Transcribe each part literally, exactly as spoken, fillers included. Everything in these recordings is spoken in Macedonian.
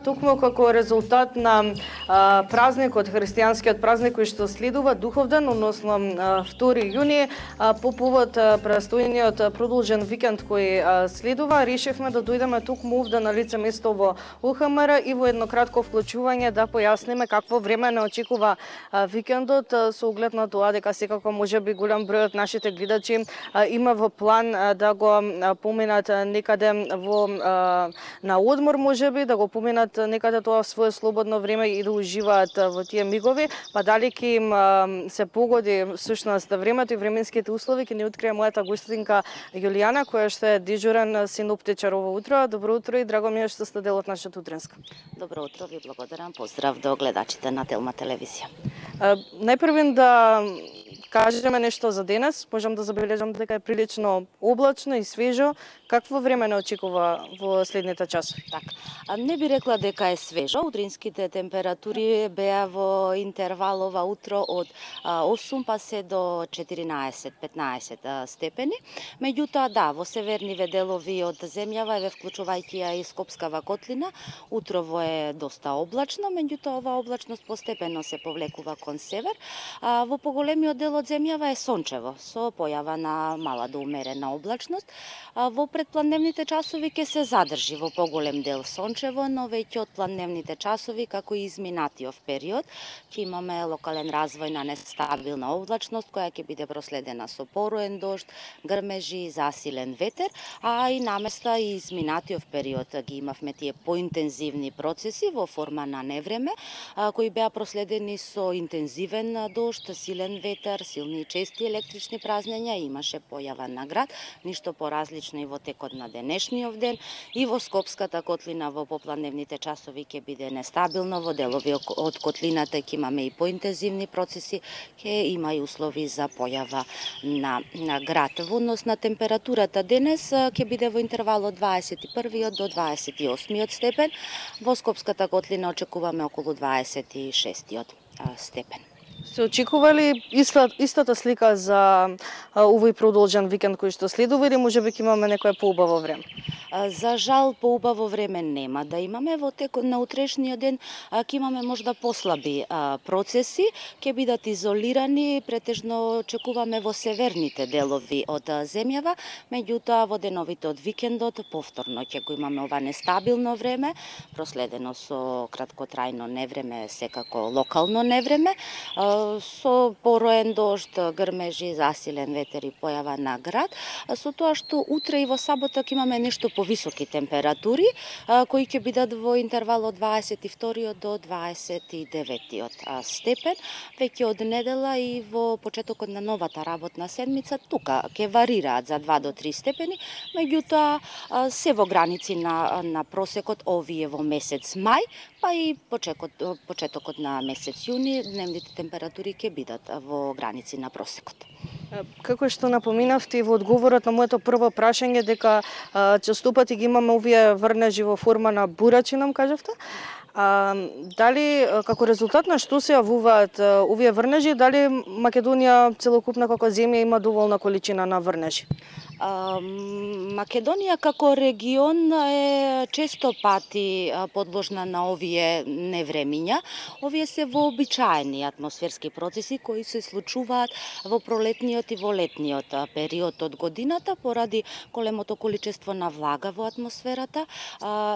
токму како резултат на а, празникот, христијанскиот празник кој што следува Духовден, односно а, втори јуни, а, по повод а, престојниот продолжен викенд кој а, следува, решивме да дојдеме токму овде на лице место во У Х М Р и во едно кратко вклучување да појасниме какво време не очекува а, викендот, а, со оглед на тоа дека секако можеби голем број од нашите гледачи а, има во план а, да го а, поминат а, некаде во а, на одмор, можеби да го поминат некаде тоа во свое слободно време и да уживаат во тие мигови, па дали ќе им а, се погоди всушност времето и временските услови, ќе ни открие мојата гостинка Јулијана, која што е дежурен синоптичар ово утро. Добро утро и драго ми е што сте дел од нашата утренска. Добро утро, ви благодарам. Поздрав до гледачите на Телма телевизија. Најпрвен да кажеме нешто за денес. Можам да забележам дека е прилично облачно и свежо. Какво време не очекува во следните часови? Така, не би рекла дека е свежо. Утринските температури беа во интервал ова утро од осум па се до четиринаесет петнаесет степени. Меѓутоа, да, во северниве делови од земјава, еве вклучувајќи ја и Скопскава котлина, утрово е доста облачно, меѓутоа ова облачност постепено се повлекува кон север. А, во поголемиот дел од земјава е сончево, со појава на мала до умерена облачност. А, во предпладневните часови ќе се задржи во поголем дел сончево, но веќе од пладневните часови, како и изминатиот период, ќе имаме локален развој на нестабилна облачност, која ќе биде проследена со пороен дожд, грмежи, засилен ветер, а и наместа и изминатиот период ги имавме тие поинтензивни процеси во форма на невреме, кои беа проследени со интензивен дожд, силен ветер, силни и чести електрични празнења, имаше појава на град, ништо поразлично и во текот на денешниот ден, и во Скопската котлина во попладневните часови ќе биде нестабилно, во делови од котлината ќе имаме и поинтензивни процеси, ќе има и услови за појава на, на град. Во однос на температурата денес ќе биде во интервал од дваесет и првиот до дваесет и осмиот степен, во Скопската котлина очекуваме околу дваесет и шестиот степен. Се очекува ли иста, истата слика за а, овој продолжен викенд кој што следува или можеби ќе имаме некое поубаво време? За жал, поубаво време нема да имаме. Во текот на утрешниот ден ќе имаме можда послаби а, процеси, ќе бидат изолирани, претежно очекуваме во северните делови од земјава, меѓутоа во деновите од викендот повторно ќе го имаме ова нестабилно време, проследено со краткотрајно невреме, секако локално невреме, со пороен дожд, грмежи, засилен ветер и појава на град, со тоа што утре и во сабота ќе имаме нешто повисоки температури, кои ќе бидат во интервал од дваесет и вториот до дваесет и деветиот степен. Веќе од недела и во почетокот на новата работна седмица тука ќе варираат за два до три степени, меѓутоа се во граници на, на просекот овие во месец мај, па и почетокот, почетокот на месец јуни, дневните температури ќе бидат во граници на просекот. Како што напоминавте во одговорот на моето прво прашање дека а, честопати ги имаме овие врнежи во форма на бурачи, нам кажавте? А, дали како резултат на што се јавуваат овие врнежи, дали Македонија целокупна како земја има доволна количина на врнежи? Македонија како регион е често пати подложна на овие невремиња. Овие се вообичаени атмосферски процеси кои се случуваат во пролетниот и во летниот период од годината поради големото количество на влага во атмосферата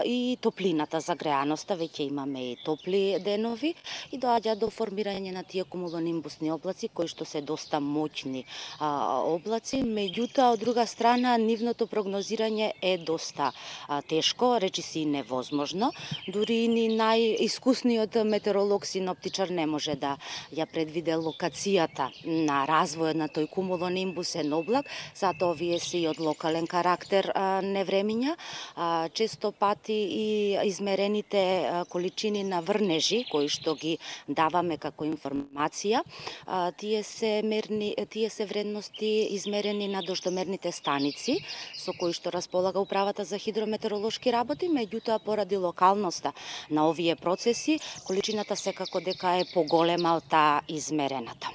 и топлината, загреаноста. Веќе имаме и топли денови и доаѓа до формирање на тие кумулонимбусни облаци кои што се доста моќни облаци, меѓутоа од друга страна, нивното прогнозирање е доста а, тешко, речиси невозможно. Дури и ни најискусниот метеоролог, синоптичар не може да ја предвиде локацијата на развојот на тој кумулонимбусен облак, затоа овие се и од локален карактер а, невремиња. А, често пати и измерените а, количини на врнежи, кои што ги даваме како информација, а, тие се мерни, тие се вредности измерени на дождомерните станици со кои што располага Управата за хидрометеоролошки работи, меѓутоа поради локалноста на овие процеси, количината секако дека е поголема од таа измерената.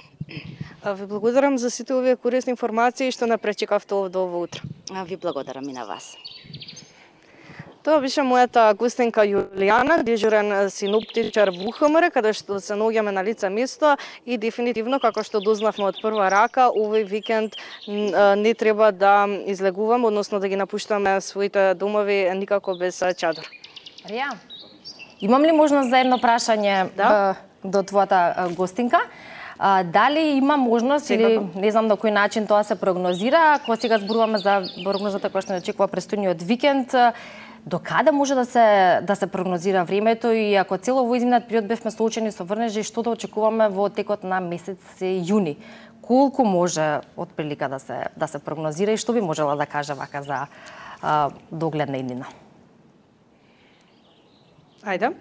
Ви благодарам за сите овие корисни информации што не пречекавте овде ово утро. Ви благодарам и на вас. Тоа беше мојата гостинка Јулијана, дежурен синоптичар во У Х М Р, каде што се наоѓаме на лице место и дефинитивно, како што дознавме од прва рака, овој викенд не треба да излегуваме, односно да ги напуштаме своите домови никако без чадор. Рија, имам ли можност за едно прашање Да. до твојата гостинка? А, дали има можност Секако. или не знам на кој начин тоа се прогнозира, ако сега зборуваме за прогнозата која што не очекува престојниот викенд, до каде може да се да се прогнозира времето и ако цело во изминат период бевме соочени со врнежи, што да очекуваме во текот на месец јуни? Колку може отприлика да се да се прогнозира и што би можела да каже вака за а, догледна иднина? Ајде.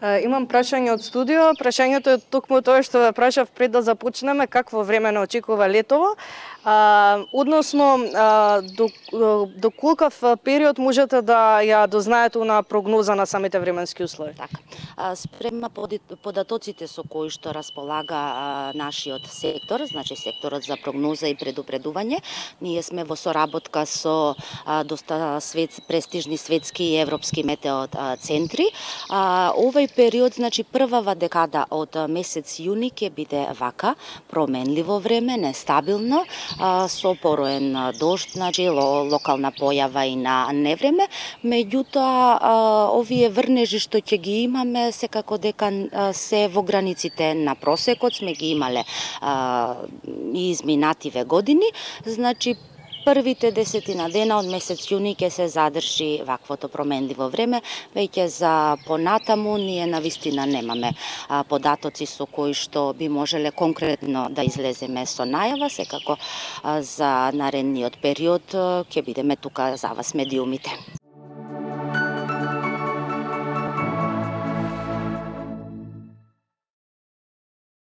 Имам прашање од студио. Прашањето е токму тоа што ве прашав пред да започнеме, какво време не очекува летово. А, односно, а, до, до колкав период можете да ја дознаете на прогноза на самите временски услови? Така. Спрема податоците со кои што располага а, нашиот сектор, значи секторот за прогноза и предупредување, ние сме во соработка со а, доста свет, престижни светски и европски метео а, центри. А, овој период, значи првава декада од месец јуни ќе биде вака, променливо време, нестабилно, а, со пороен дожд, значи локална појава и на невреме, меѓутоа а, овие врнежи што ќе ги имаме секако дека а, се во границите на просекот, сме ги имале а, и изминативе години, значи првите десетина дена од месец јуни ќе се задржи ваквото променливо време, веќе за понатаму ние навистина немаме а, податоци со кои што би можеле конкретно да излеземе со најава, секако а, за наредниот период ќе бидеме тука за вас медиумите.